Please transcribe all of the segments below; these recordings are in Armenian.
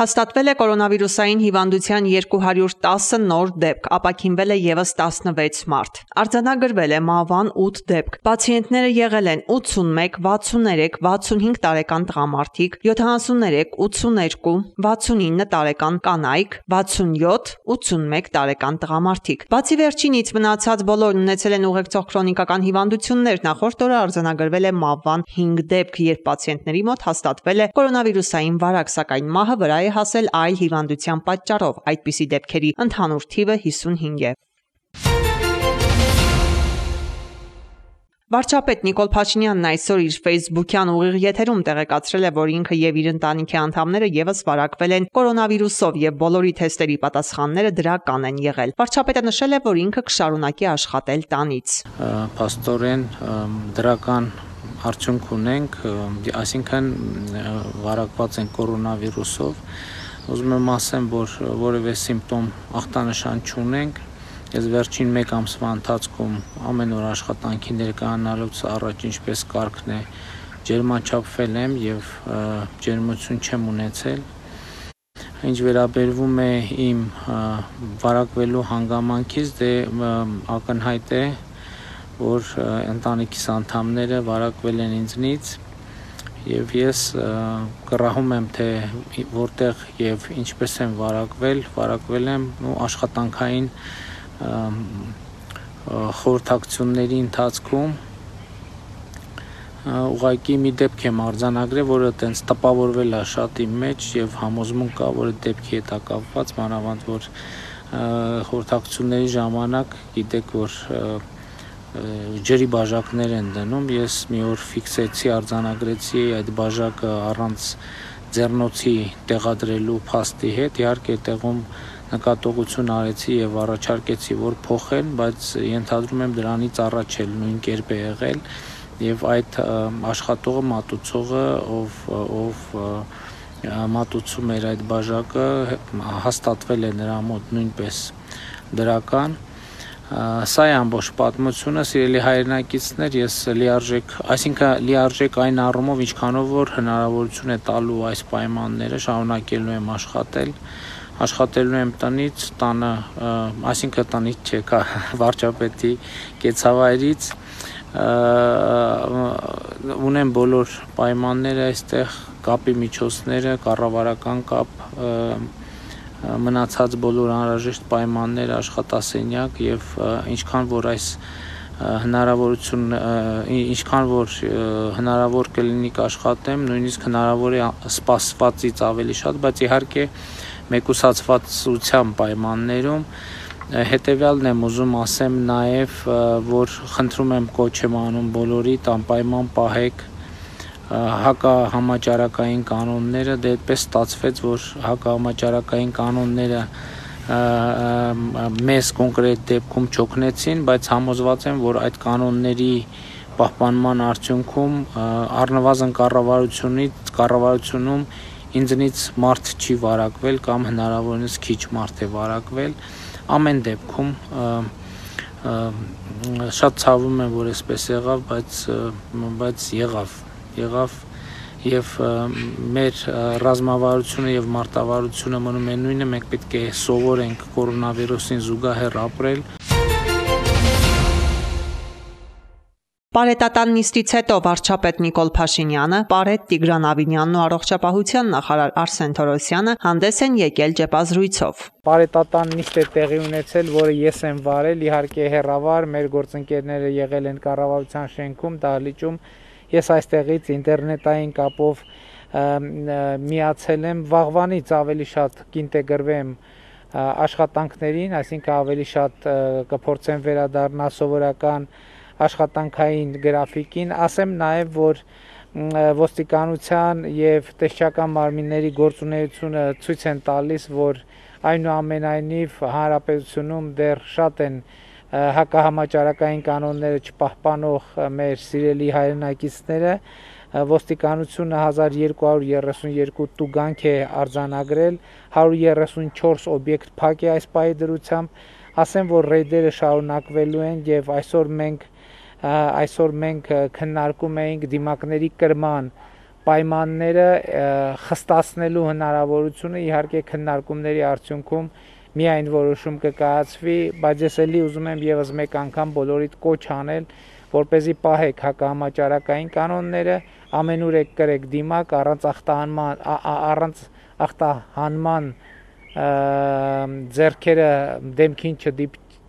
Հաստատվել է կորոնավիրուսային հիվանդության 210 նոր դեպք, ապաքինվել է ևս 16 մարդ։ Արձանագրվել է մահվան 8 դեպք։ Պացիենտները եղել են 81, 63, 65 տարեկան տղամարդիկ, 73, 82, 69 տարեկան կանայք, 67, 81 տարեկան տղամարդիկ։ Բացի վերջինից մնացած բոլորն ունեցել են ուղեկցող քրոնիկական հիվանդություններ։ Նախորդ օրը արձանագրվել է մահվան 5 դեպք, երբ պացիենտների մոտ հաստատվել է կորոնավիրուսային վարակ, սակայն մահը վրա է հասել այլ հիվանդության պատճառով։ Այդպիսի դեպքերի ընդհանուր թիվը 55 է։ Վարչապետ Նիկոլ Փաշինյանն այսօր իր ֆեյսբուքյան ուղիղ եթերում տեղեկացրել է, որ ինքը եւ իր ընտանիքի անդամները եւս վարակվել են կորոնավիրուսով եւ բոլորի թեստերի պատասխանները դրական են եղել։ Վարչապետը նշել է, որ ինքը կշարունակի աշխատել տանից։ Փաստորեն դրական արդյունք ունենք, այսինքն վարակված են կորոնավիրուսով։ Ուզում եմ ասեմ, որ որևէ սիմպտոմ ախտանշան չունենք։ Ես վերջին 1 ամսվա ընթացքում ամեն օր աշխատանքի ներկայանալուց առաջ ինչպես կարգն է ջերմաչափվել եմ եւ ջերմություն չեմ ունեցել։ Ինչ վերաբերվում է իմ վարակվելու հանգամանքից, դե ակնհայտ է, որ ընտանիքիս անդամները վարակվել են ինձնից եւ ես կռահում եմ, թե որտեղ եւ ինչպես եմ վարակվել եմ աշխատանքային խորհրդակցությունների ընթացքում ուղղակի մի դեպք եմ արձանագրել, որը տենց տպավորվել է շատ իմ մեջ եւ համոզմունք կա, որ այդ դեպքի հետ է կապված, մանավանդ որ խորհրդակցությունների ժամանակ գիտեք, որ ջրի բաժակներ են դնում, ես մի օր ֆիքսեցի, արձանագրեցի այդ բաժակը առանց ձեռնոցի տեղադրելու փաստի հետ, իհարկե տեղում նկատողություն արեցի եւ առաջարկեցի, որ փոխեն, բայց ենթադրում եմ դրանից առաջ էլ նույն կերպ է եղել եւ այդ աշխատողը մատուցողը, ով մատուցում էր այդ բաժակը, հաստատվել է նրա մոտ նույնպես դրական։ Սա է ամբողջ պատմությունը, սիրելի հայրենակիցներ, ես լիարժեք այն առումով, ինչքանով որ հնարավորություն է տալու այս պայմանները, շարունակելու եմ աշխատելու եմ տնից, տանը, այսինքն տնից չէ, վարչապետի կեցավայրից, ունեմ բոլոր պայմանները այստեղ, կապի միջոցները, կառավարական կապ, մնացած բոլոր անհրաժեշտ պայմաններ, աշխատասենյակ եւ ինչքան որ հնարավոր կլինի կաշխատեմ, նույնիսկ հնարավոր է սպասվածից ավելի շատ, բայց իհարկե մեկուսացվածության պայմաններում հետեւյալն եմ ուզում ասեմ նաեւ, որ խնդրում եմ կոչ եմ անում բոլորիդ անպայման պահեք հակահամաճարակային կանոնները, դե այդպես ստացվեց, որ հակահամաճարակային կանոնները մեզ կոնկրետ դեպքում չօգնեցին, բայց համոզված եմ, որ այդ կանոնների պահպանման արդյունքում առնվազն կառավարությունում ինձնից մարդ չի վարակվել կամ հնարավորինս քիչ մարդ է վարակվել, ամեն դեպքում շատ ցավում եմ, որ այսպես եղավ, բայց եղավ եւ մեր ռազմավարությունը եւ մարտավարությունը մնում է նույնը, մենք պետք է սովորենք կորոնավիրուսին զուգահեռ ապրել։ Պարետատան նիստից հետո վարչապետ Նիկոլ Փաշինյանը, Պարետ Տիգրան Ավինյանն ու առողջապահության նախարար Արսեն Թորոսյանը հանդես են եկել ճեպազրույցով։ Պարետատան նիստ է տեղի ունեցել, որը ես եմ վարել, իհարկե հեռավար, մեր գործընկերները եղել են կառավարության շենքում, դահլիճում, ես այստեղից ինտերնետային կապով միացել եմ, վաղվանից ավելի շատ կինտեգրվեմ աշխատանքներին, այսինքն ավելի շատ կփորձեմ վերադառնալ սովորական աշխատանքային գրաֆիկին, ասեմ նաև, որ ոստիկանության եւ տեսչական մարմինների գործունեությունը ցույց են տալիս, որ այնուամենայնիվ հանրապետությունում դեռ շատ են հակահամաճարակային կանոնները չպահպանող մեր սիրելի հայրենակիցները, ոստիկանությունը 1232 տուգանք է արձանագրել, 134 օբյեկտ փակ է այս պահի դրությամբ, ասեմ, որ ռեյդերը շարունակվելու են եւ այսօր մենք քննարկում էինք դիմակների կրման պայմանները խստացնելու հնարավորությունը իհարկե քննարկումների արդյունքում միայն որոշում կկայացվի, բայց ես էլի ուզում եմ եւս մեկ անգամ բոլորիդ կոչ անել, որպեսզի պահեք հակահամաճարակային կանոնները, ամենուր եք կրեք դիմակ առանց ախտահանման ձեռքերը դեմքին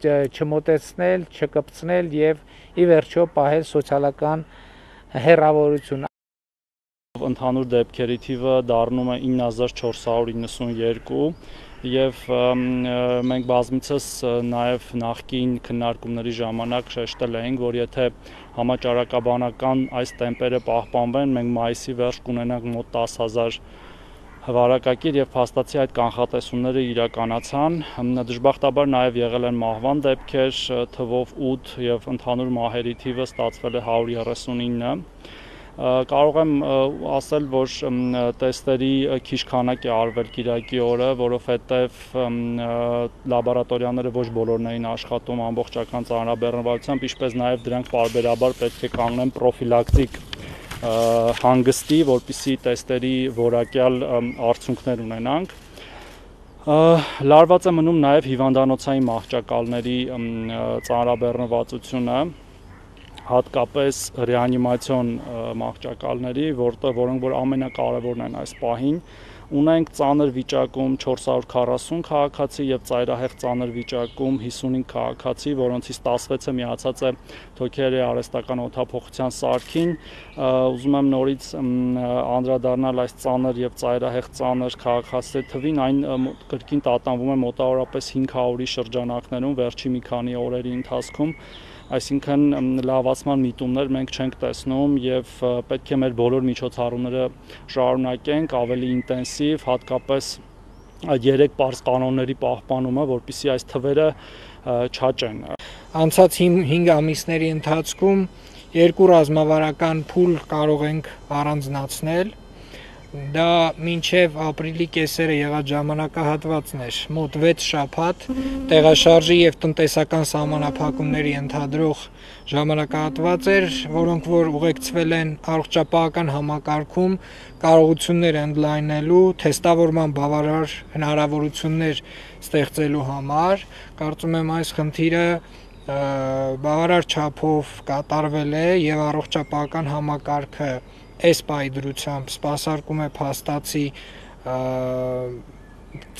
չմոտեցնել, չկպցնել եւ ի վերջո պահել սոցիալական հեռավորություն։ Ընդհանուր դեպքերի թիվը դառնում է 9492 եւ մենք բազմիցս նաեւ նախկին քննարկումների ժամանակ շեշտել էինք, որ եթե համաճարակաբանական այս տեմպերը պահպանվեն, մենք մայիսի վերջ կունենանք մոտ 10000 վարակակիր եւ փաստացի այդ կանխատեսումները իրականացան։ Դժբախտաբար նաեւ եղել են մահվան դեպքեր, թվով 8 եւ ընդհանուր մահերի թիվը ստացվել է 139։ Կարող եմ ասել, որ տեստերի քիչ քանակ է արվել Կիրակի օրը, որովհետև լաբորատորիաները ոչ բոլորն էին աշխատում ամբողջական ծանրաբեռնվածությամբ, ինչպես նաև դրանք պարբերաբար պետք է կանգնեն պրոֆիլակտիկ հանգստի, որպեսզի տեստերի որակյալ արդյունքներ ունենանք։ Լարված է մնում նաև հիվանդանոցային մահճակալների ծանրաբեռնվածությունը, հատկապես ռեանիմացիոն մահճակալների, որոնք որ ամենակարևորն են այս պահին, ունենք ծանր վիճակում 440 քաղաքացի եւ ծայրահեղ ծանր վիճակում 55 քաղաքացի, որոնցից 16-ը միացած է թոքերի արհեստական օդափոխության սարքին։ Ուզում եմ նորից անդրադառնալ այս ծանր եւ ծայրահեղ ծանր քաղաքացիների թվին, այն կրկին տատանվում է մոտավորապես 500-ի շրջանակներում վերջի մի քանի օրերի ընթացքում։ Այսինքն լավացման միտումներ մենք չենք տեսնում եւ պետք է մեր բոլոր միջոցառումները շարունակենք ավելի ինտենսիվ, հատկապես այդ 3 պարզ կանոնների պահպանումը, որպեսզի այս թվերը չաճեն։ Անցած 5 ամիսների ընթացքում 2 ռազմավարական փուլ կարող ենք առանձնացնել։ Դա մինչև ապրիլի կեսերը եղած ժամանակահատվածն էր, մոտ 6 շաբաթ տեղաշարժի եւ տնտեսական սահմանափակումների ընդհանրող ժամանակահատված էր, որոնք որ ուղեկցվել են առողջապահական համակարգում կարողություններ ընդլայնելու, թեստավորման բավարար հնարավորություններ ստեղծելու համար։ Կարծում եմ այս խնդիրը բավարար չափով կատարվել է եւ առողջապահական համակարգը այս պայդրությամբ սպասարկում է փաստացի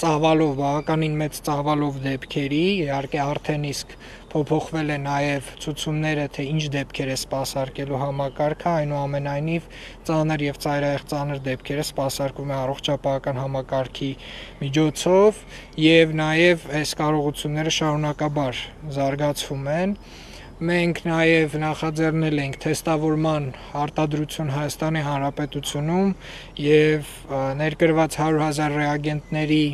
ծավալով, բավականին մեծ ծավալով դեպքերի, իհարկե արդեն իսկ փոփոխվել է նաև ցուցումները, թե ինչ դեպքեր է սպասարկելու համակարգը, այնուամենայնիվ ծանր եւ ծայրահեղ ծանր դեպքերը սպասարկում է առողջապահական համակարգի միջոցով եւ նաև այս կարողությունները շարունակաբար զարգացվում են։ Մենք նաև նախաձեռնել ենք թեստավորման արտադրություն Հայաստանի Հանրապետությունում եւ ներկրված 100,000 ռեագենտների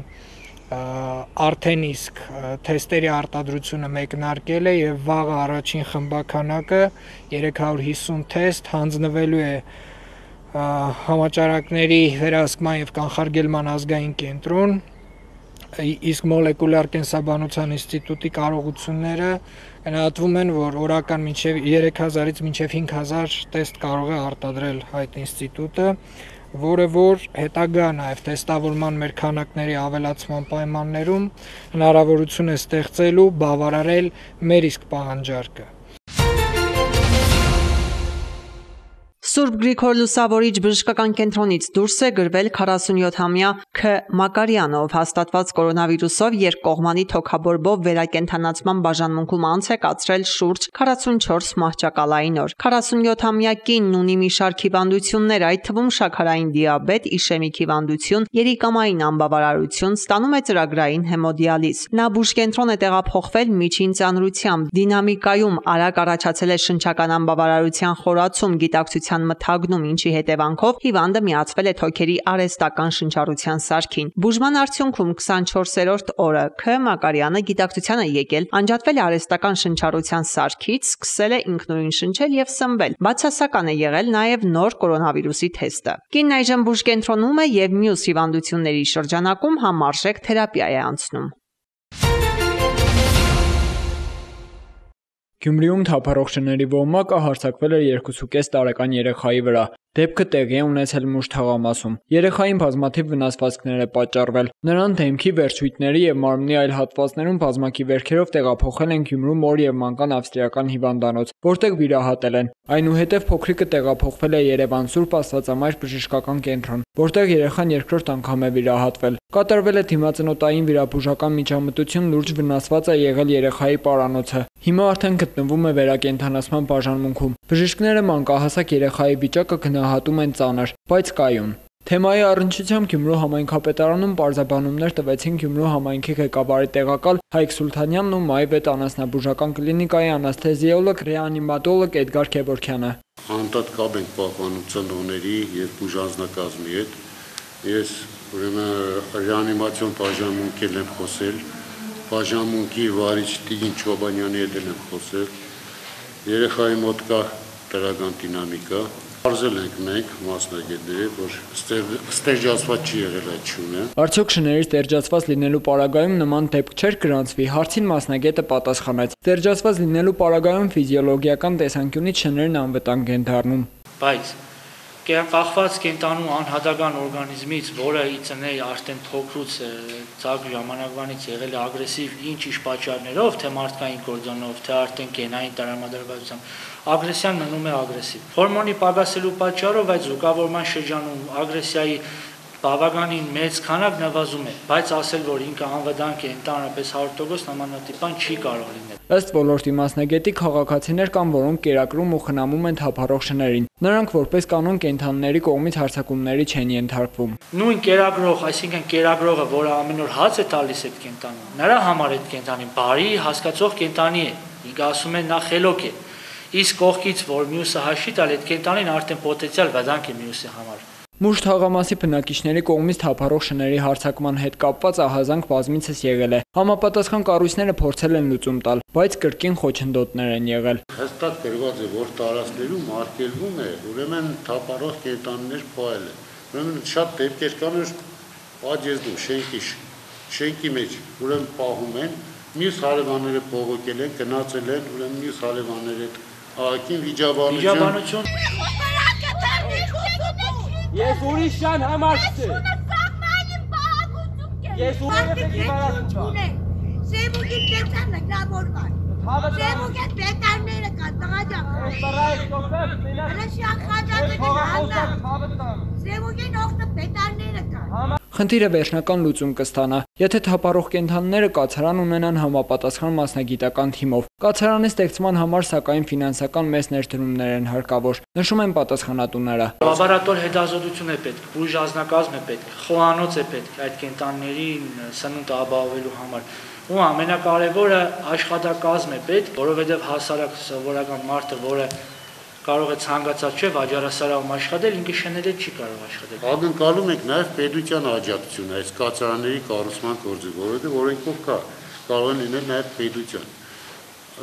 արդեն իսկ թեստերի արտադրությունը մեկնարկել է եւ վաղ առաջին խմբականակը 350 թեստ հանձնվելու է համաճարակների վերահսկման եւ կանխարգելման ազգային կենտրոն, իսկ մոլեկուլար կենսաբանության ինստիտուտի կարողությունները գնահատվում են, որ օրական մինչև 3000-ից մինչև 5000 տեստ կարող է արտադրել այդ ինստիտուտը, որը որ հետագա նաև տեստավորման մեր քանակների ավելացման պայմաններում հնարավորություն է ստեղծելու բավարարել մեր իսկ պահանջարկը։ Սուրբ Գրիգոր Լուսավորիչ բժշկական կենտրոնից դուրս է գրվել 47-ամյա Ք. Մակարյանը, ով հաստատված կորոնավիրուսով երկկողմանի թոքաբորբով վերակենդանացման բաժանմունքում անց է կացրել շուրջ 44 մահճակալային օր։ 47-ամյա կինն ունի մի շարք հիվանդություններ, այդ թվում շաքարային դիաբետ, իշեմիկ հիվանդություն, երիկամային անբավարարություն, ստանում է ծրագրային հեմոդիալիզ։ Նա բուժկենտրոն է տեղափոխվել միջին ծանրությամբ։ Դինամիկայում արագ առաջացել է շնչական անբավարարության խորացում, գիտակցության մթագնում, ինչի հետևանքով հիվանդը միացվել է թոքերի արհեստական շնչառության սարքին։ Բուժման արդյունքում 24-րդ օրը Ք. Մակարյանը գիտակցության է եկել, անջատվել է արհեստական շնչառության սարքից, սկսել է ինքնուրույն շնչել եւ սնվել։ Բացասական է եղել նաեւ նոր կորոնավիրուսի թեստը։ Կինն այժմ բուժկենտրոնում է եւ մյուս հիվանդությունների շրջանակում համարժեք թերապիա է անցնում։ Գյումրիում թափառող շների ոհմակը հարձակվել է 2.5 տարեկան երեխայի վրա։ Դեպքը տեղի է ունեցել Մուշ թաղամասում։ Երեխային բազմաթիվ վնասվածքներ է պատճառվել։ Նրան դեմքի, վերջույթների եւ մարմնի այլ հատվածներում բազմակի վերքերով տեղափոխել են Գյումրու մոր եւ մանկան ավստրիական հիվանդանոց, որտեղ վիրահատել են։ Այնուհետև փոքրիկը տեղափոխվել է Երևան Սուրբ Աստվածամայր բժշկական կենտրոն, որտեղ երեխան երկրորդ անգամ է վիրահատվել։ Կատարվել է դիմացնոտային վիրաբուժական միջամտություն, լուրջ վնասված է եղել երեխայի պարանոցը։ Հիմա արդեն գտնվում է վերակենդանացման բաժանմունքում։ Բժիշկները մանկահասակ երեխայի վիճակը գնահատում են ծանր, բայց կայուն։ Թեմայի առնչությամբ Գյումրու համայնքապետարանում պարզաբանումներ տվեցին Գյումրու համայնքի ղեկավարի տեղակալ Հայկ Սուլթանյանն ու Մայվետ անասնաբուժական կլինիկայի անասթեզիոլոգ, ռեանիմատոլոգ Էդգար Քևորքյանը։ Անդադ կապ ենք պահպանում ծնողների եւ բուժանձնակազմի հետ։ Ես ուրեմն ռեանիմացիոն բաժանմունքել եմ խոսել, բաժանմունքի վարիչ Տիգին Չոբանյանի հետ եմ խոսել։ Երեխայի մոտ կա դրական դինամիկա։ Արզել ենք մենք մասնագետները, որ ստերջացված չի եղել այդ շունը։ Արդյոք շների ստերջացված լինելու պարագայում նման դեպք չէր գրանցվի, հարցին մասնագետը պատասխանեց։ Ստերջացված լինելու պարագայում ֆիզիոլոգիական տեսանկյունից շներն անվտանգ են դառնում։ Բայց կախված կենտանու անհատական օրգանիզմից, որը ի ծնե արդեն փոքրուց ցակ ժամանակվանից եղել է ագրեսիվ ինչ-ինչ պատճառներով, թե մարդկային գործոնով, թե արդեն գենային տրամադրվածությամբ, ագրեսիան մնում է ագրեսիվ։ Հորմոնի պակասելու պատճառով այդ զուգավորման շրջանում ագրեսիայի բավականին մեծ քանակ նվազում է, բայց ասել, որ ինքը անվտանգ է ընդհանրապես 100% նմանատիպ բան չի կարող լինել։ Ըստ ոլորտի մասնագետի քաղաքացիներ կան, որոնք կերակրում ու խնամում են թափառող շներին։ Նրանք որպես կանոն կենդանիների կողմից հարձակումների չեն ենթարկվում։ Նույն կերակրող, այսինքն կերակրողը, որը ամեն օր հաց է տալիս այդ կենտանուն, նրա համար այդ կենտանին բարի հասկացող կենտանի է։ Ինքը ասում է նա խելոք է։ Իսկ կողքից, որ մյուսը հաշվի տալ, այդ կենտանին արդեն պոտենցիալ վտանգ է մյուսի համար։ Մուշ թաղամասի բնակիչների կողմից թափառող շների հարձակման հետ կապված ահազանգ բազմիցս եղել է։ Համապատասխան կառույցները փորձել են լուծում տալ, բայց կրկին խոչընդոտներ են եղել։ Հստակ գրված է, որ տարածքներում արգելվում է, ուրեմն թափառող կենդանիներ փոյել է։ Ուրեմն շատ դեպքեր կան, որ պատժեզդում շենքի մեջ ուրեմն պահում են, մյուս հարևանները բողոքել են, գնացել են, ուրեմն մյուս հարևանները ահագին վիճաբանություն։ Ես ուրիշան համար չեմ։ Ես ուրիշան Սեբուկի տեսան նկրավորված։ Սեբուկի պետարները կան, տղաջակ։ Հրաշյան խաջատը կհանա։ Սեբուկին օգտը պետարները կան։ Խնդիրը վերջնական լուծում կստանա, եթե թափառող կենդանիները կացարան ունենան համապատասխան մասնագիտական թիմով։ Կացարանի ստեղծման համար սակայն ֆինանսական մեծ ներդրումներ են հարկավոր, նշում են պատասխանատուները։ Լաբորատոր հետազոտություն է պետք, բուժանձնակազմ է պետք, խոհանոց է պետք այդ կենտանիներին սնունդ ապահովելու համար։ Ու ամենակարևորը աշխատակազմ է պետք, որովհետև հասարակ սովորական մարդը, որը կարող է ցանկացած չէ վաճառասարանում աշխատել, ինքը շները չի կարող աշխատել։ Ակնկալում ենք նաև պետության աջակցությունը այս կացարանների կառուցման գործի, որովհետև օրենքով կա, կարող են լինել նաև պետության։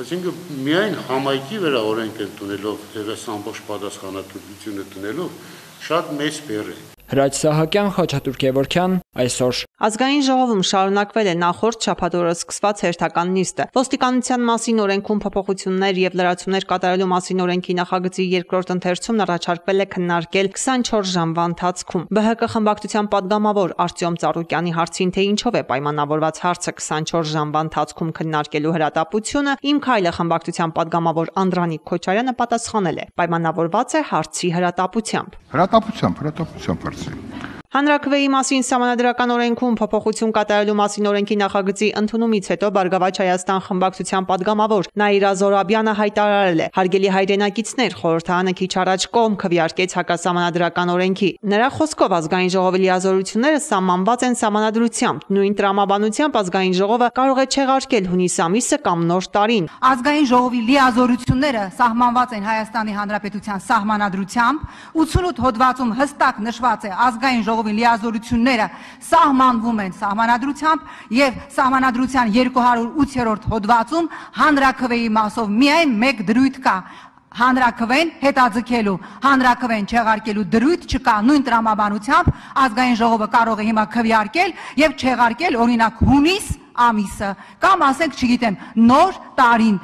Այսինքն միայն համայնքի վրա օրենք ընդունելով եւ այս ամբողջ պատասխանատվությունը տնելով շատ մեծ բեռ է։ Հրաչ Սահակյան, Խաչատուր Քևորքյան, այսօր։ Ազգային ժողովում շարունակվել է նախորդ շաբաթօրը սկսված հերթական նիստը։ Ոստիկանության մասին օրենքում փոփոխություններ եւ լրացումներ կատարելու մասին օրենքի նախագծի երկրորդ ընթերցումն առաջարկվել է քննարկել 24 ժամվա ընթացքում։ ԲՀԿ խմբակցության падգամավոր Արտյոմ Ծառուկյանի հարցին, թե ինչով է պայմանավորված հարցը 24 ժամվա ընթացքում քննարկելու հրատապությունը, Իմ քայլը խմբակցության падգամավոր Անդրանիկ Քոչարյանը պատասխանել է. պայմանավորված է հարցի հրատապությամբ։ Հրատապությամբ Հանրաքվեի մասին Սահմանադրական օրենքում փոփոխություն կատարելու մասին օրենքի նախագծի ընդունումից հետո Բարգավաճ Հայաստան խմբակցության падգամավոր Նաիրա Զորաբյանը հայտարարել է. Հարգելի հայրենակիցներ, խորհրդարանը քիչ առաջ կողմ քվեարկեց հակասահմանադրական օրենքի։ Նրա խոսքով ազգային ժողովի լիազորությունները սահմանված են սահմանադրությամբ։ Նույն տրամաբանությամբ ազգային ժողովը կարող է չեղարկել հունիս ամիսը կամ նոր տարին։ Ազգային ժողովի լիազորությունները սահմանված են Հայաստանի Հանրապետության սահմանադրությամբ, 88 հոդվածում հստակ նշված է ազգային ժողովի լիազորությունները սահմանվում են սահմանադրությամբ եւ սահմանադրության 208-րդ հոդվածում հանրաքվեի մասով միայն մեկ դրույթ կա հանրաքվեն հետաձգելու, հանրաքվեն չեղարկելու դրույթ չկա նույն տրամաբանությամբ ազգային ժողովը կարող է հիմա քվեարկել եւ չեղարկել օրինակ հունիս ամիսը կամ ասենք, չգիտեմ, նոր տարին։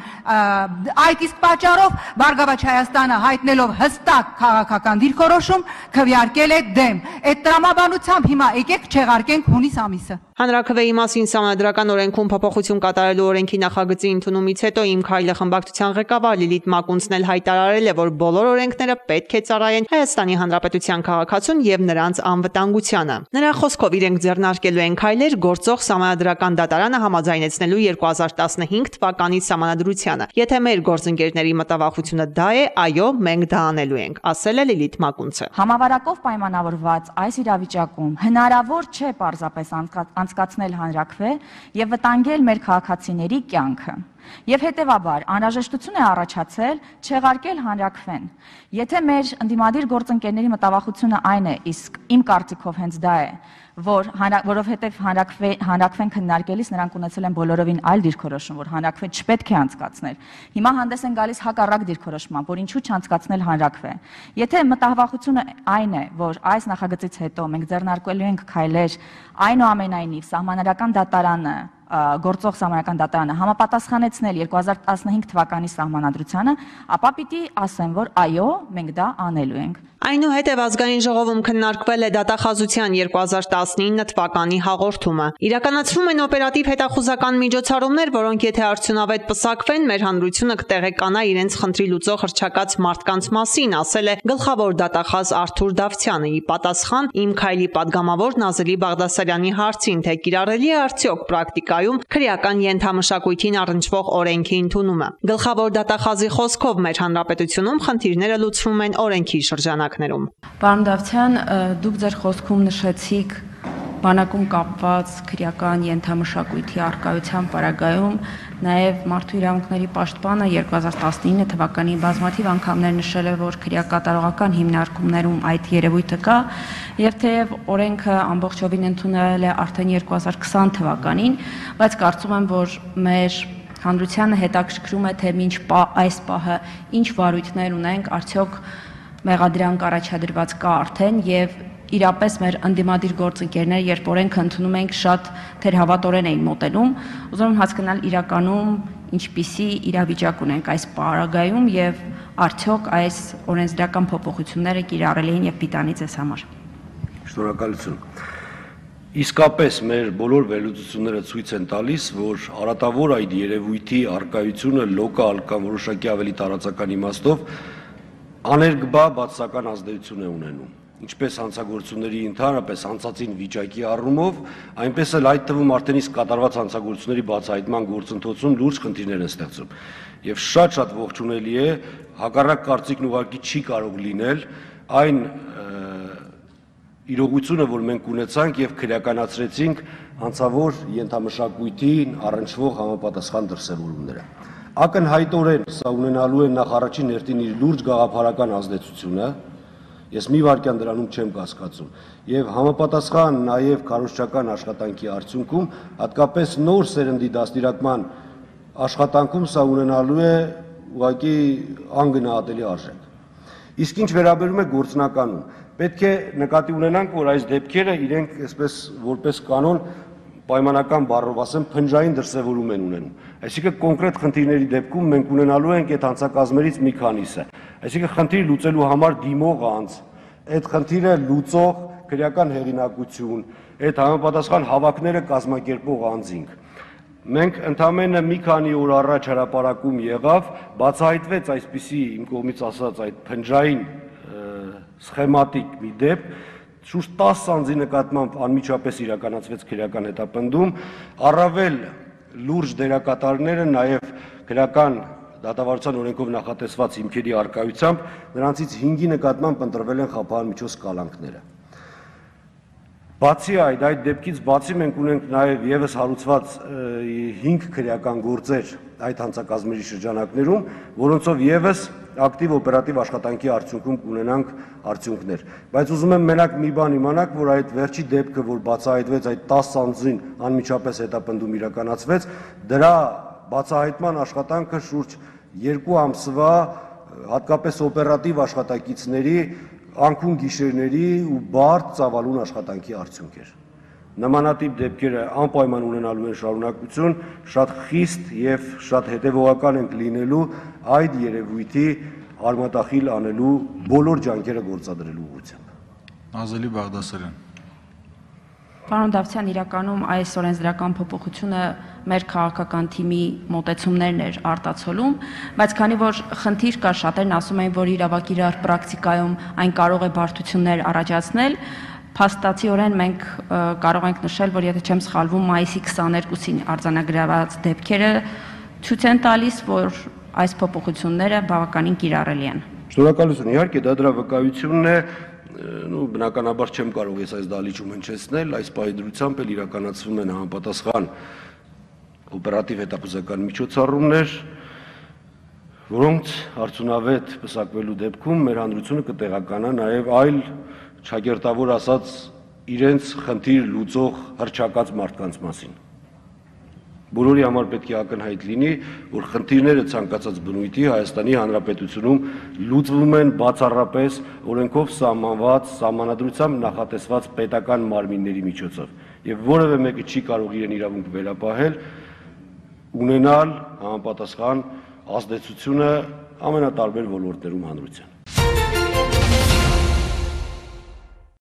Այդ իսկ պատճառով Բարգավաճ Հայաստանը հայտնելով հստակ քաղաքական դիրքորոշում քվեարկել է դեմ։ Այդ տրամաբանությամբ հիմա եկեք չեղարկենք հունիս ամիսը։ Հանրաքվեի մասին Սահմանադրական օրենքում փոփոխություն կատարելու օրենքի նախագծի ընդունումից հետո Իմ քայլը խմբակցության ղեկավար Լիլիթ Մակունցն էլ հայտարարել է, որ բոլոր օրենքները պետք է ծառայեն Հայաստանի Հանրապետության քաղաքացուն եւ նրանց անվտանգությանը։ Նրա խոսքով իրենք ձեռնարկելու են քայլեր գործող Սահմանադրական դատարանը համաձայնեցնելու 2015 թվականի Սահմանադրությանը։ Եթե մեր գործընկերների մտավախությունը դա է, այո, մենք դա անելու ենք, ասել է Լիլիթ Մակունցը։ Համավարակով պայմանավորված այս իրավիճակում հնարավոր չէ պարզապես անցկացնել հանրաքվե եւ վտանգել մեր քաղաքացիների կյանքը։ Եվ հետևաբար անհրաժեշտություն է առաջացել չեղարկել հանրաքվեն։ Եթե մեր ընդդիմադիր գործընկերների մտավախությունը այն է, իսկ իմ կարծիքով հենց դա է, որովհետև հանրաքվեն քննարկելիս նրանք ունեցել են բոլորովին այլ դիրքորոշում, որ հանրաքվե չպետք է անցկացնել։ Հիմա հանդես են գալիս հակառակ դիրքորոշմամբ, որ ինչու չանցկացնել հանրաքվե։ Եթե մտավախությունը այն է, որ այս նախագծից հետո մենք ձեռնարկելու ենք քայլեր, այնուամենայնիվ Սահմանադրական դատարանը գործող Սահմանադրական դատարանը համապատասխանեցնել 2015 թվականի Սահմանադրությանը, ապա պիտի ասեմ, որ այո, մենք դա անելու ենք։ Այնուհետև ազգային ժողովում քննարկվել է դատախազության 2019 թվականի հաղորդումը։ Իրականացվում են օպերատիվ հետախուզական միջոցառումներ, որոնք եթե արդյունավետ պսակվեն, մեր հանրությունը կտեղեկանա իրենց խնդրի լուծող հռչակած մարդկանց մասին, ասել է գլխավոր դատախազ Արթուր Դավթյանը՝ ի պատասխան Իմ քայլի падգամավոր Նազելի Բաղդասարյանի հարցին, թե կիրառելի է արդյոք պրակտիկայում քրեական ենթամշակույթին առնչվող օրենքի ընդունումը։ Գլխավոր դատախազի խոսքով մեր հանրապետությունում խնդիրները լուծվում են օրենքի շրջանակներում։ Պարոն Դավթյան, դուք ձեր խոսքում նշեցիք բանակում կապված քրեական ենթամշակույթի առկայության պարագայում, նաև Մարդու իրավունքների պաշտպանը 2019 թվականին բազմաթիվ անգամներ նշել է, որ քրեակատարողական հիմնարկումներում այդ երևույթը կա, եւ թեև օրենքը ամբողջովին ընդունել է արդեն 2020 թվականին, բայց կարծում եմ, որ մեր հանրությանը հետաքրքրում է, թե մինչ այս պահը ինչ վարույթներ ունենք, արդյոք մեղադրանք առաջադրված կա արդեն եւ իրապես մեր ընդդիմադիր գործընկերները, երբ օրենքը ընդունում ենք, շատ թերհավատորեն էին մոտենում, ուզում եմ հասկանալ իրականում ինչպիսի իրավիճակ ունենք այս պարագայում եւ արդյոք այս օրենսդրական փոփոխությունները կիրառելի են եւ պիտանի ձեզ համար։ Շնորհակալություն։ Իսկապես մեր բոլոր վերլուծությունները ցույց են տալիս, որ արատավոր այդ երևույթի առկայությունը լոկալ կամ որոշակի ավելի տարածական իմաստով աներկբա բացասական ազդեցություն է ունենում, ինչպես հանցագործությունների ընդհանրապես անցածին վիճակի առումով, այնպես էլ այդ թվում արդեն իսկ կատարված հանցագործությունների բացահայտման գործընթացում լուրջ խնդիրներ են ստեղծում։ Եվ շատ ողջունելի է, հակառակ կարծիքն ուղղակի չի կարող լինել այն իրողությունը, որ մենք ունեցանք եւ քրեականացրեցինք հանցավոր ենթամշակույթին առնչվող համապատասխան դրսևորումները։ Ակնհայտորեն սա ունենալու է նախ առաջին հերթին իր լուրջ գաղափարական ազդեցությունը, ես մի վայրկյան դրանում չեմ կասկածում, եւ համապատասխան նաեւ քարոզչական աշխատանքի արդյունքում, հատկապես նոր սերնդի դաստիարակման աշխատանքում սա ունենալու է ուղղակի անգնահատելի արժեք։ Իսկ ինչ վերաբերում է գործնականուն, պետք է նկատի ունենանք, որ այս դեպքերը իրենք այսպես որպես կանոն պայմանական բառով ասեմ, փնջային դրսևորում են ունենում։ Այսինքն կոնկրետ խնդիրների դեպքում մենք ունենալու ենք այդ հանցակազմերից մի քանիսը։ Այսինքն խնդիր լուծելու համար դիմող անձ, այդ խնդիրը լուծող քրեական հեղինակություն, այդ համապատասխան հավաքները կազմակերպող անձինք։ Մենք ընդամենը մի քանի օր առաջ հրապարակում եղավ, բացահայտվեց այսպիսի իմ կողմից ասած այդ փնջային սխեմատիկ մի դեպք, շուրջ 10 անձի նկատմամբ անմիջապես իրականացվեց քրեական հետապնդում, առավել լուրջ դերակատարները նաև քրեական դատավարության օրենքով նախատեսված հիմքերի առկայությամբ նրանցից 5-ի նկատմամբ ընտրվել են խափանմիջոց կալանքները։ Բացի այդ դեպքից բացի մենք ունենք նաև եւս հարուցված 5 քրեական գործեր այդ հանցակազմերի շրջանակներում, որոնցով եւս ակտիվ օպերատիվ աշխատանքի արդյունքում կունենանք արդյունքներ։ Բայց ուզում եմ մենակ մի բան իմանաք, որ այդ վերջի դեպքը, որ բացահայտվեց այդ 10 անձին անմիջապես հետապնդում իրականացվեց, դրա բացահայտման աշխատանքը շուրջ 2 ամսվա հատկապես օպերատիվ աշխատակիցների անքուն գիշերների ու բարդ ծավալուն աշխատանքի արդյունք էր։ նմանատիպ դեպքերը անպայման ունենալու են շարունակություն, շատ խիստ եւ շատ հետեւողական ենք լինելու այդ երևույթի արմատախիլ անելու բոլոր ջանքերը գործադրելու ուղղությամբ։ Նազելի Բաղդասարյան։ Պարոն Դավթյան, իրականում այս օրենսդրական փոփոխությունը մեր քաղաքական թիմի մոտեցումներն էր արտացոլում, բայց քանի որ խնդիր կա, շատերն ասում են, որ իրավակիրառ պրակտիկայում այն կարող է բարդություններ առաջացնել, փաստացիորեն մենք կարող ենք նշել, որ եթե չեմ սխալվում, մայիսի 22-ին արձանագրված դեպքերը ցույց են տալիս, որ այս փոփոխությունները բավականին կիրառելի են։ Շնորհակալություն, իհարկե դա դրա վկայությունն է, բնականաբար չեմ կարող ես այս դալիճում հնչեցնել, այս պահի դրությամբ էլ իրականացվում են համապատասխան օպերատիվ հետախուզական միջոցառումներ, որոնց արդյունավետ պսակվելու դեպքում մեր հանրությունը կտեղականա նաև այլ չակերտավոր ասած իրենց խնդիր լուծող հռչակած մարդկանց մասին։ Բոլորի համար պետք է ակնհայտ լինի, որ խնդիրները ցանկացած բնույթի Հայաստանի Հանրապետությունում լուծվում են բացառապես օրենքով սահմանված, սահմանադրությամբ նախատեսված պետական մարմինների միջոցով, եւ որևէ մեկը չի կարող իրեն իրավունք վերապահել ունենալ համապատասխան ազդեցությունը ամենատարբեր ոլորտներում հանրության։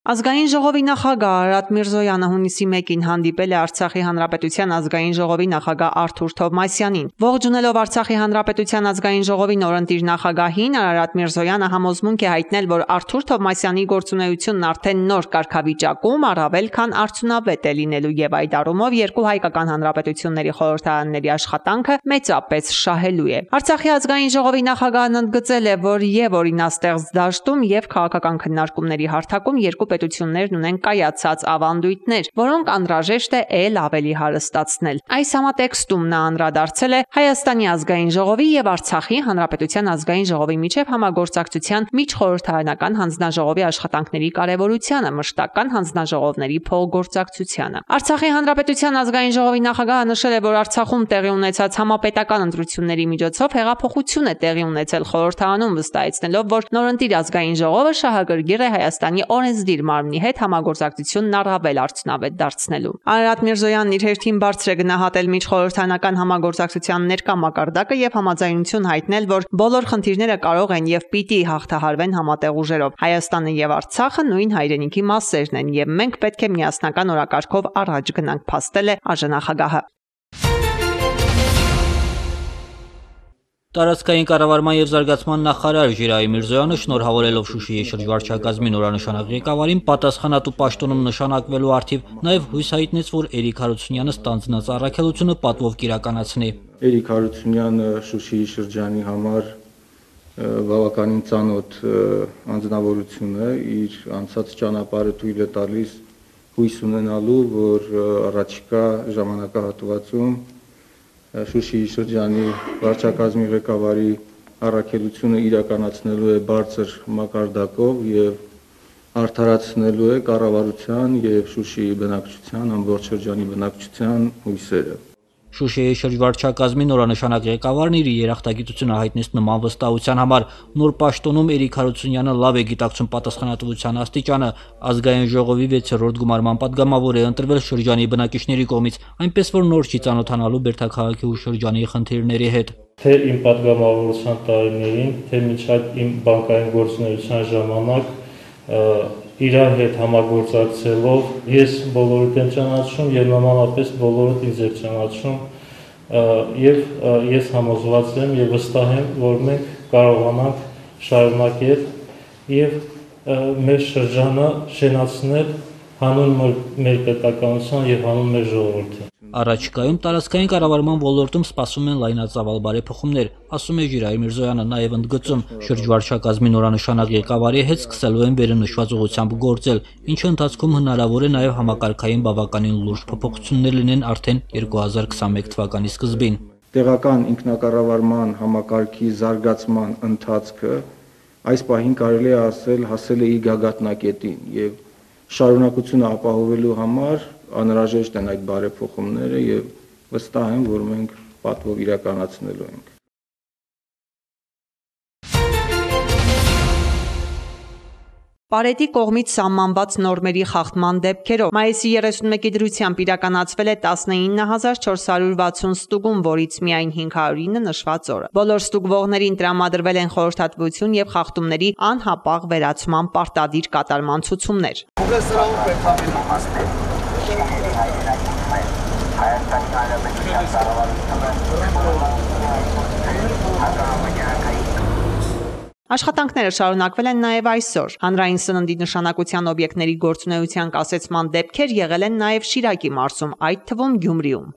Ազգային ժողովի նախագահ Արարատ Միրզոյանը հունիսի 1-ին հանդիպել է Արցախի Հանրապետության ազգային ժողովի նախագահ Արթուր Թովմասյանին։ Ողջունելով Արցախի Հանրապետության ազգային ժողովի նորընտիր նախագահին, Արարատ Միրզոյանը համոզմունք է հայտնել, որ Արթուր Թովմասյանի գործունեությունն արդեն նոր կարգավիճակում առավել քան արդյունավետ է լինելու եւ այդ առումով երկու հայկական հանրապետությունների խորհրդարանների աշխատանքը մեծապես շահելու է։ Արցախի ազգային ժողովի նախագահն ընդգծել է, որ եւ օրինաստեղծ դաշտում եւ քաղաքական քննարկումների հարթակում երկու պետություններն ունեն կայացած ավանդույթներ, որոնք անհրաժեշտ է ել ավելի հարստացնել։ Այս համատեքստում նա անդրադարձել է Հայաստանի ազգային ժողովի եւ Արցախի Հանրապետության ազգային ժողովի միջև համագործակցության միջխորհրդարանական հանձնաժողովի աշխատանքների կարեւորությանը, մշտական հանձնաժողովների փոխգործակցությանը։ Արցախի Հանրապետության ազգային ժողովի նախագահը նշել է, որ Արցախում տեղի ունեցած համապետական ընտրությունների միջոցով հեղափոխություն է տեղի ունեցել խորհրդարանում, վստահեցնելով, որ նորընտիր ազգային ժողովը շահագրգիռ է Հայաստանի օրենսդիր մարմնի հետ համագործակցությունն առավել արդյունավետ դարձնելու։ Արարատ Միրզոյանն իր հերթին բարձր է գնահատել միջխորհրդարանական համագործակցության ներկա մակարդակը եւ համաձայնություն հայտնել, որ բոլոր խնդիրները կարող են եւ պիտի հաղթահարվեն համատեղ ուժերով։ Հայաստանը եւ Արցախը նույն հայրենիքի մասերն են եւ մենք պետք է միասնական օրակարգով առաջ գնանք, փաստել է ԱԺ-նախագահը։ Տարածքային կառավարման եւ զարգացման նախարար Ժիրայր Միրզոյանը շնորհավորելով Շուշիի շրջվարչակազմի նորանշանակ ղեկավարին պատասխանատու պաշտոնում նշանակվելու արդիվ նաեւ հույս հայտնեց, որ Էրիկ Հարությունյանը ստանձնած առաքելությունը պատվով կիրականացնի։ Էրիկ Հարությունյանը Շուշիի շրջանի համար բավականին ծանոթ անձնավորություն է, իր անցած ճանապարհը թույլ է տալիս հույս ունենալու, որ առաջիկա ժամանակահատվածում Շուշիի շրջանի վարչակազմի ղեկավարի առաքելությունը իրականացնելու է բարձր մակարդակով եւ արդարացնելու է կառավարության եւ Շուշիի բնակչության, ամբողջ շրջանի բնակչության հույսերը։ Շուշիի շրջվարչակազմի նորանշանակ ղեկավարն իր երախտագիտությունը հայտնեց նման վստահության համար։ Նոր պաշտոնում Էրիկ Հարությունյանը լավ է գիտակցում պատասխանատվության աստիճանը, ազգային ժողովի 6-րդ գումարման падգամավոր է ընտրվել շրջանի բնակիչների կողմից, այնպես որ նոր չի ծանոթանալու Բերդաքաղաքի ու շրջանի խնդիրների հետ։ Թե իմ падգամավորության տարիներին, թե մինչև իմ բանկային գործունեության ժամանակ իրար հետ համագործակցելով ես բոլորդ եմ ճանաչում եւ նմանապես բոլորդ ինձ է ճանաչում եւ ես համոզված եմ եւ վստահ եմ, որ մենք կարողանանք շարունակել եւ մեր շրջանը շենացնել հանուն մեր պետականության եւ հանուն մեր ժողովրդի։ Առաջիկայում տարածքային կառավարման ոլորտում սպասում են լայնածավալ բարեփոխումներ, ասում է Ժիրայր Միրզոյանը, նաև ընդգծում շրջվարչակազմի նորանշանակ ղեկավարի հետ սկսելու են վերնշված ուղղությամբ գործել, ինչը ընթացքում հնարավոր է նաև համակարգային բավականին լուրջ փոփոխություններ լինեն արդեն 2021 թվականի սկզբին։ Տեղական ինքնակառավարման համակարգի զարգացման ընթացքը այս պահին կարելի է ասել հասել է իր գագաթնակետին եւ շարունակությունը ապահովելու համար անհրաժեշտ են այդ բարեփոխումները եւ վստահ եմ, որ մենք պատվով իրականացնելու ենք։ Պարետի կողմից սահմանված նորմերի խախտման դեպքերով մայիսի 31-ի դրությամբ իրականացվել է 19460 ստուգում, որից միայն 509 նշված օրը։ Բոլոր ստուգվողներին տրամադրվել են խորհրդատվություն եւ խախտումների անհապաղ վերացման պարտադիր կատարման ցուցումներ։ Աշխատանքները շարունակվել են նաև այսօր։ Հանրային սննդի նշանակության օբյեկտների գործունեության կասեցման դեպքեր եղել են նաև Շիրակի մարզում, այդ թվում Գյումրիում։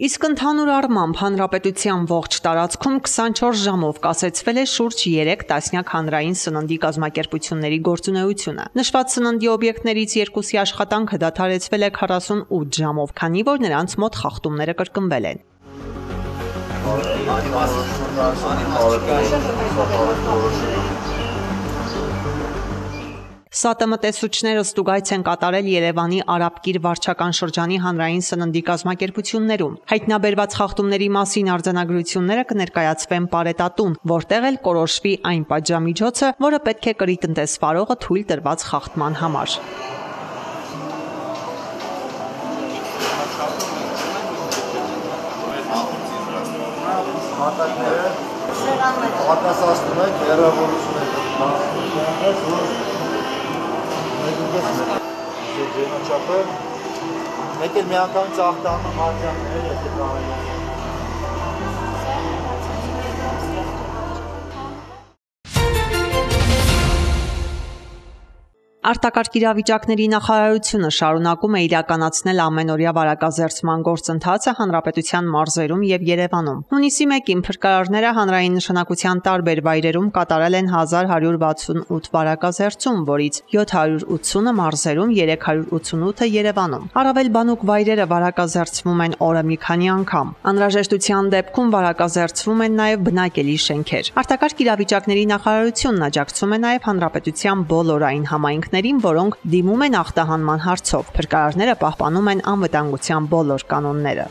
Իսկ ընդհանուր առմամբ հանրապետության ողջ տարածքում 24 ժամով կասեցվել է շուրջ 3 տասնյակ հանրային սննդի կազմակերպությունների գործունեությունը։ Նշված սննդի օբյեկտներից երկուսի աշխատանքը դադարեցվել է 48 ժամով, քանի որ նրանց մոտ խախտումները կրկնվել են։ ՍԱՏՄ-տեսուչները ստուգայց են կատարել Երևանի Արաբկիր վարչական շրջանի հանրային սննդի կազմակերպություններում։ Հայտնաբերված խախտումների մասին արձանագրությունները կներկայացվեն Պարետատուն, որտեղ էլ կորոշվի այն պատժամիջոցը, որը պետք է կրի տնտեսվարողը թույլ տրված խախտման համար։ Արտասացնում եք հեռավորությունը Ձենաչապը մեկ էլ մի անգամ ծաղտանում հարջաններ եթե կարելի է։ Արտակարգ իրավիճակների նախարարությունը շարունակում է իրականացնել ամենօրյա վարակազերծման գործընթացը հանրապետության մարզերում եւ Երևանում։ Հունիսի 1-ին փրկարարները հանրային նշանակության տարբեր վայրերում կատարել են 1168 վարակազերծում, որից 780-ը մարզերում, 388-ը Երևանում։ Առավել բանուկ վայրերը վարակազերծվում են օրը մի քանի անգամ։ Անհրաժեշտության դեպքում վարակազերծվում են նաեւ բնակելի շենքեր։ Արտակարգ իրավիճակների նախարարությունն աջակցում է նաեւ հանրապետության բոլոր այն համայնքներին, որոնք դիմում են ախտահանման հարցով։ Փրկարարները պահպանում են անվտանգության բոլոր կանոնները։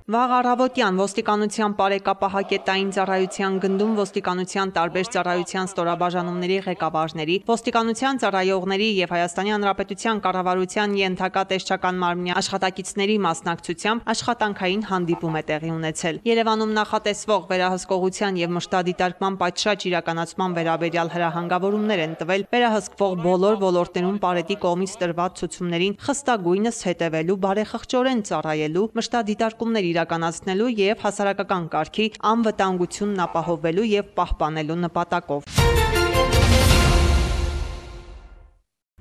Վաղ առավոտյան ոստիկանության բարեկապահակետային ծառայության գնդում ոստիկանության տարբեր ծառայության ստորաբաժանումների ղեկավարների, ոստիկանության ծառայողների եւ Հայաստանի Հանրապետության կառավարության ենթակա տեսչական մարմնի աշխատակիցների մասնակցությամբ աշխատանքային հանդիպում է տեղի ունեցել։ Երևանում նախատեսվող վերահսկողության եւ մշտադիտարկման պատշաճ իրականացման վերաբերյալ հրահանգավորումներ են տվել վերահսկվող բոլոր ոլորտներում Պարետի կողմից տրված ցուցումներին խստագույնս հետևելու, բարեխղճորեն ծառայելու, մշտադիտարկումներ իրականացնելու եւ հասարակական կարգի անվտանգությունն ապահովելու եւ պահպանելու նպատակով։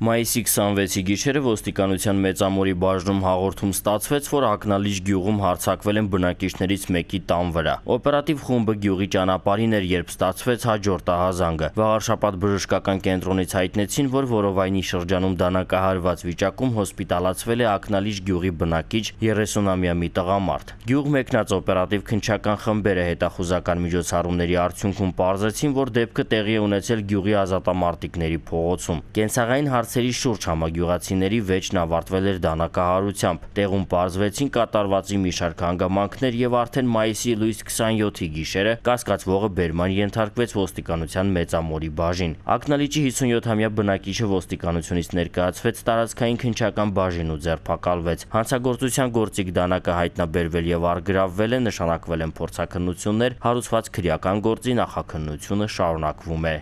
Մայիսի 26-ի գիշերը ոստիկանության Մեծամորի բաժնում հաղորդում ստացվեց, որ Ակնալիջ գյուղում հարձակվել են բնակիչներից մեկի տան վրա։ Օպերատիվ խումբը գյուղի ճանապարհին էր, երբ ստացվեց հաջորդ ահազանգը։ Վաղարշաբաթ բժշկական կենտրոնից հայտնեցին, որ որովայնի շրջանում դանակահարված վիճակում հոսպիտալացվել է Ակնալիջ գյուղի բնակիչ 30-ամյա մի տղամարդ։ Գյուղ մեկնած օպերատիվ քննչական խմբերը հետախուզական միջոցառումների արդյունքում պարզեցին, որ դեպքը տեղի է ունեցել գյուղի ազատամարտիկների փողոցում։ Կենցաղային հարցերի շուրջ համագյուղացիների վեճն ավարտվել էր դանակահարությամբ։ Տեղում պարզվեցին կատարվածի մի շարք հանգամանքներ եւ արդեն մայիսի լույս 27-ի գիշերը կասկածվողը բերման ենթարկվեց ոստիկանության Մեծամորի բաժին։ Ակնալիջի 57-ամյա բնակիչը ոստիկանությունից ներկայացվեց տարածքային քննչական բաժին ու ձերբակալվեց։ Հանցագործության գործիք դանակը հայտնաբերվել եւ առգրավվել է, նշանակվել են փորձաքննություններ, հարուցված քրեական գործի նախաքննությունը շարունակվում է։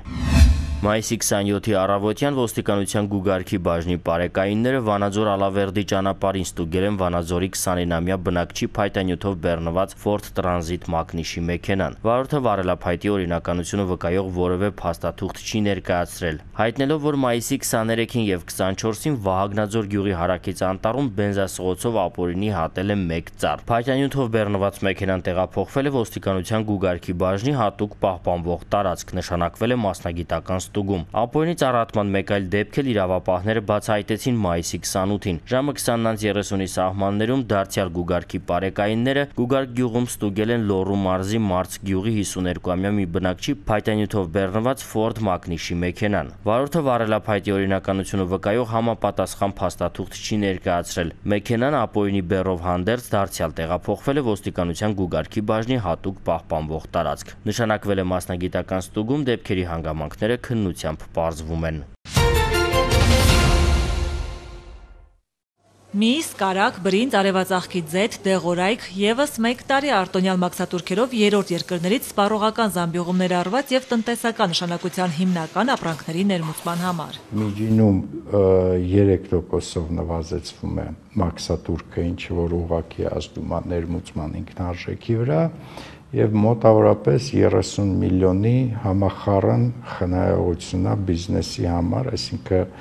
Մայիսի 27-ի առավոտյան ոստիկանության գուգարքի բաժնի պարեկայինները Վանաձոր Ալավերդի ճանապարհին ստուգել են Վանաձորի 29-ամյա բնակչի փայտանյութով բեռնված Ford Transit մակնիշի մեքենան։ Վարորդը վարելափայտի օրինականությունը վկայող որևէ փաստաթուղթ չի ներկայացրել, հայտնելով, որ մայիսի 23-ին եւ 24-ին Վահագնաձոր գյուղի հարակից անտառում բենզասղոցով ապօրինի հատել է 1 ծառ։ Փայտանյութով բեռնված մեքենան տեղափոխվել է ոստիկանության գուգարքի բաժնի հատուկ պահպանվող տարածք, նշանակվել է մասնագիտական ստուգում։ Ապօրինի ծառայման մեկ այլ դեպք էլ իրավապահները բացահայտեցին մայիսի 28-ին։ Ժամը 20:30-ի սահմաններում դարձյալ գուգարքի պարեկայինները Գուգարք գյուղում ստուգել են Լոռու մարզի Մարց գյուղի 52-ամյա մի բնակչի փայտանյութով բեռնված Ford մակնիշի մեքենան։ Վարորդը վարելափայտի օրինականությունը վկայող համապատասխան փաստաթուղթ չի ներկայացրել։ Մեքենան ապօրինի բեռով հանդերձ դարձյալ տեղափոխվել է ոստիկանության գուգարքի բաժնի հատուկ պահպանվող տարածք։ Նշանակվել է մասնագիտական ստուգում, դեպքերի հանգամանքները քննությամբ պարզվում են։ Միս, կարակ, բրինձ, արևածաղկի ձեթ, դեղորայք, եւս 1 տարի արտոնյալ մաքսատուրքերով երրորդ երկրներից սպառողական զամբյուղումներ արված եւ տնտեսական նշանակության հիմնական ապրանքների ներմուծման համար։ Միջինում 3%-ով նվազեցվում է մաքսատուրքը, ինչը որ ուղղակի ազդում է ներմուծման ինքնարժեքի վրա, եւ մոտավորապես 30 միլիոնի համախառն խնայողություն է բիզնեսի համար, այսինքն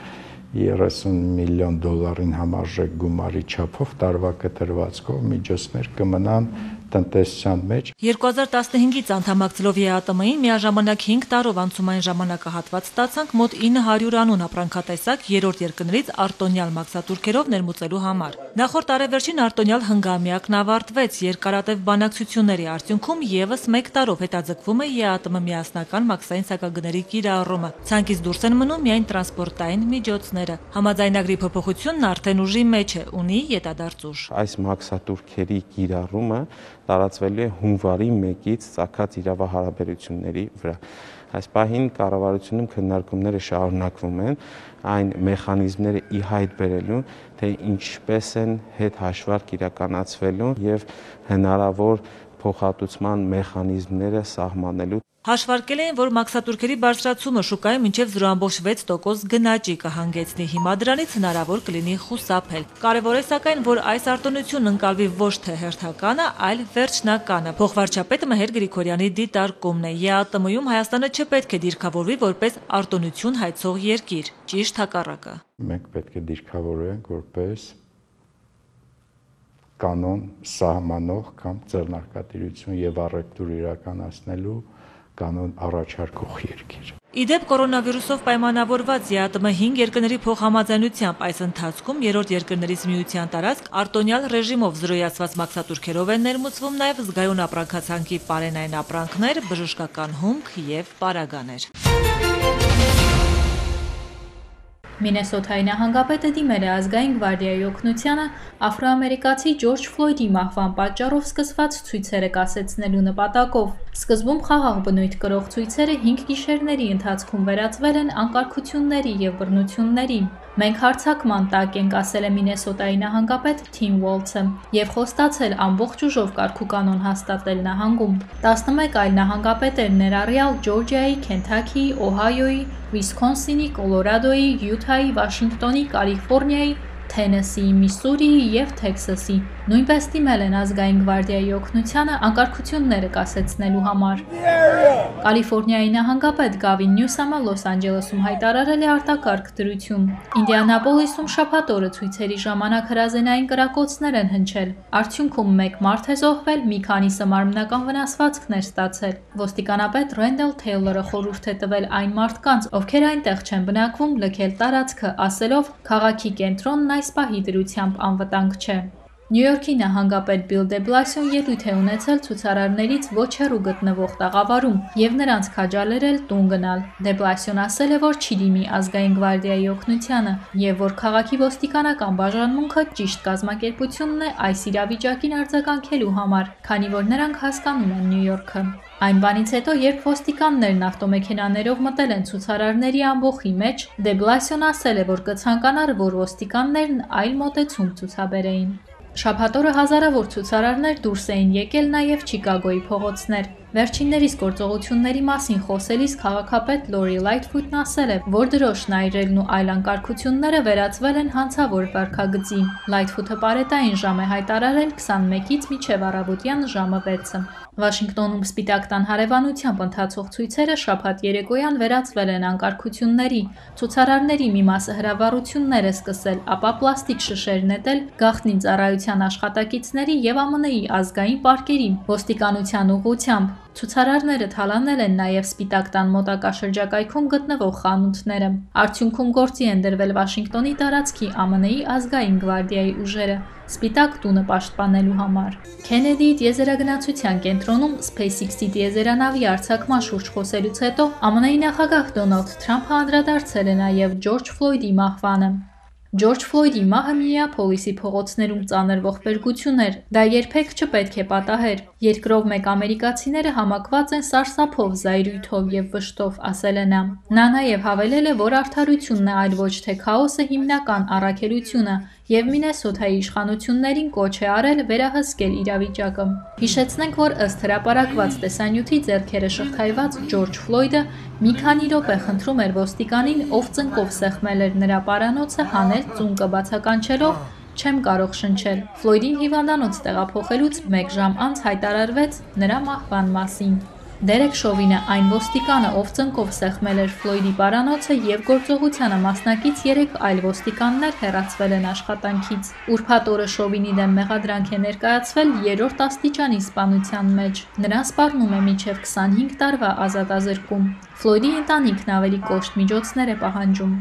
30 միլիոն դոլարին համարժեք գումարի չափով տարվա կտրվածքով միջոցներ կմնան տնտեսության մեջ։ 2015-ից անդամակցելով ԵԱՏՄ-ին միաժամանակ 5 տարով անցումային ժամանակահատված ստացանք մոտ 900 անուն ապրանքատեսակ երրորդ երկրներից արտոնյալ մաքսատուրքերով ներմուծելու համար։ Նախորդ տարեվերջին արտոնյալ հնգամյակն ավարտվեց, երկարատև բանակցությունների արդյունքում եւս 1 տարով հետաձգվում է ԵԱՏՄ միասնական մաքսային սակագների կիրառումը։ Ցանկից դուրս են մնում միայն տրանսպորտային միջոցները։ Համաձայնագրի փոփոխությունն արդեն ուժի մեջ է, ունի ետադարձ ուժ։ Այս մաքսատուրքերի կիրառումը տարածվելու է հունվարի 1-ից ծագած իրավահարաբերությունների վրա։ Այս պահին կառավարությունում քննարկումները շարունակվում են այն մեխանիզմները ի հայտ բերելու, թե ինչպես են հետհաշվարկ իրականացվելու եւ հնարավոր փոխհատուցման մեխանիզմները սահմանելու։ Հաշվարկել էին, որ մաքսատուրքերի բարձրացումը շուկայում մինչև 0.6% գնաճի կհանգեցնի։ Հիմա դրանից հնարավոր կլինի խուսափել։ Կարևոր է սակայն, որ այս արտոնությունն ընկալվի ոչ թե հերթականը, այլ վերջնականը։ Փոխվարչապետ Մհեր Գրիգորյանի դիտարկումն է։ ԵԱՏՄ-ում Հայաստանը չպետք է դիրքավորվի որպես արտոնություն հայցող երկիր, ճիշտ հակառակը։ Մենք պետք է դիրքավորենք որպես կանոն սահմանող կամ ձեռնարկատիրություն եւ առևտուր իրականացնելու կանոն առաջարկող երկիր։ Իդեպ կորոնավիրուսով պայմանավորված ԵԱՏՄ 5 երկրների փոխհամաձայնությամբ այս ընթացքում երրորդ երկրներից միության տարածք արտոնյալ ռեժիմով զրոյացված մաքսատուրքերով են ներմուծվում նաև զգայուն ապրանքացանկի պարենային ապրանքներ, բժշկական հումք եւ պարագաներ։ Մինեսոթայի նահանգապետը դիմել է ազգային գվարդիայի օգնությանը աֆրոամերիկացի Ջորջ Ֆլոյդի մահվան պատճառով սկսված ցույցերը կասեցնելու նպատակով։ Սկզբում խաղաղ բնույթ կրող ցույցերը 5 գիշերների ընթացքում վերածվել են անկարգությունների եւ բռնությունների։ Մենք հարձակման տակ ենք, ասել է Մինեսոտայի նահանգապետ Թիմ Ուոլթսը, եւ խոստացել ամբողջ ուժով կարգուկանոն հաստատել նահանգում։ 11 այլ նահանգապետեր ներառյալ Ջորջիայի, Քենթաքիի, Օհայոյի, Վիսքոնսինի, Կոլորադոյի, Յութայի, Վաշինգտոնի, Կալիֆոռնիայի, Թենեսիի, Միսսուրիի եւ Թեքսասի նույնպես դիմել են ազգային գվարդիայի օգնությանը անկարգությունները կասեցնելու համար։ Կալիֆոռնիայի նահանգապետ Գավին Նյուսամը Լոս Անջելեսում հայտարարել է արտակարգ դրություն։ Ինդիանապոլիսում շաբաթ օրը ցույցերի ժամանակ հրազենային կրակոցներ են հնչել։ Արդյունքում 1 մարդ է զոհվել, մի քանիսը մարմնական վնասվածքներ ստացել։ Ոստիկանապետ Ռենդել Թեյլորը խորհուրդ է տվել այն մարդկանց, ովքեր այնտեղ չեն բնակվում, լքել տարածքը, ասելով քաղաքի կենտրոնն այս պահի դրությամբ անվտանգ չէ։ Նյու Յորքի նահանգապետ Բիլ դե Բլասիոն ելույթ է ունեցել ցուցարարներից ոչ հեռու գտնվող տաղավարում եւ նրանց քաջալերել տուն գնալ։ Դե Բլասիոն ասել է, որ չի դիմի ազգային գվարդիայի օգնությանը եւ որ քաղաքի ոստիկանական բաժանմունքը ճիշտ կազմակերպությունն է այս իրավիճակին արձագանքելու համար, քանի որ նրանք հասկանում են Նյու Յորքը։ Այն բանից հետո, երբ ոստիկաններն ավտոմեքենաներով մտել են ցուցարարների ամբոխի մեջ, դե Բլասիոն ասել է, որ կցանկանար, որ ոստիկաններն այլ մոտեցում ցուցաբերեին։ Շաբաթ օրը հազարավոր ցուցարարներ դուրս էին եկել նաև Չիկագոյի փողոցներ։ Վերջիններիս գործողությունների մասին խոսելիս քաղաքապետ Լորի Լայթֆուտն ասել է, որ դրոշն այրելն ու այլ անկարգությունները վերածվել են հանցավոր վարքագծի։ Լայթֆուտը պարետային ժամ է հայտարարել 21-ից մինչև առավոտյան ժամը 6-ը։ Վաշինգտոնում Սպիտակ տան հարևանությամբ ընթացող ցույցերը շաբաթ երեկոյան վերածվել են անկարգությունների։ Ցուցարարների մի մասը հրավառություններ է սկսել, ապա պլաստիկ շշեր նետել գաղտնի ծառայության աշխատակիցների եւ ԱՄՆ-ի ազգային պարկերի ոստիկանության ուղղությամբ։ Ցուցարարները թալանել են նաև Սպիտակ տան մոտակա շրջակայքում գտնվող խանութները։ Արդյունքում գործի են դրվել Վաշինգտոնի տարածքի ԱՄՆ-ի ազգային գվարդիայի ուժերը Սպիտակ տունը պաշտպանելու համար։ Քենեդիի տիեզերագնացության կենտրոնում SpaceX-ի տիեզերանավի արձակման շուրջ խոսելուց հետո ԱՄՆ-ի նախագահ Դոնալդ Թրամփը անդրադարձել է նաև Ջորջ Ֆլոյդի մահվանը։ Ջորջ Ֆլոյդի մահը Մինեապոլիսի փողոցներում ծանր ողբերգություն էր։ Դա երբեք չպետք է պատահեր։ Երկրով մեկ ամերիկացիները համակված են սարսափով, զայրույթով եւ վշտով, ասել է նա։ Նա նաև հավելել է, որ արդարությունն է, այլ ոչ թե քաոսը հիմնական առաքելությունը, եւ Մինեսոթայի իշխանություններին կոչ է արել վերահսկել իրավիճակը։ Հիշեցնենք, որ ըստ հրապարակված տեսանյութի ձեռքերը շղթայված Ջորջ Ֆլոյդը մի քանի րոպե խնդրում էր ոստիկանին, ով ծնկով սեղմել էր նրա պարանոցը, հանել ծունկը բացականչելով «Չեմ կարող շնչել»։ Ֆլոյդին հիվանդանոց տեղափոխելուց 1 ժամ անց հայտարարվեց նրա մահվան մասին։ Դերեկ Շովինը այն ոստիկանը, ով ծնկով սեղմել էր Ֆլոյդի պարանոցը եւ գործողությանը մասնակից 3 այլ ոստիկաններ հեռացվել են աշխատանքից։ Ուրբաթ օրը Շովինի դեմ մեղադրանք է ներկայացվել 3-րդ աստիճանի սպանության մեջ։ Նրան սպառնում է մինչև 25 տարվա ազատազրկում։ Ֆլոյդի ընտանիքն ավելի կոշտ միջոցներ է պահանջում։